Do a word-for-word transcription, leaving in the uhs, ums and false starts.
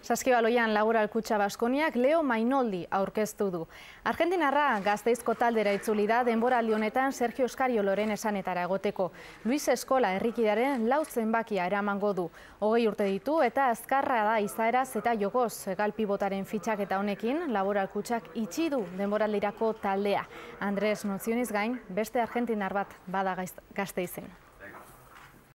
Saskibaloian Laboral Kutxa Baskoniak Leo Mainoldi aurkeztu du. Argentinarra Gasteizko taldera itzuli da denboraldi honetan Sergio Eskarioloren esanetara egoteko. Luis Eskola herrikidaren lau zenbakia eramango du. Hogei urte ditu eta azkarra da izaeraz eta jokoz. Gal pibotaren fitxaketa honekin Laboral Kutxak itxi du denboraldirako taldea. Andres Notzioniz gain, beste argentinar bat bada Gasteizen.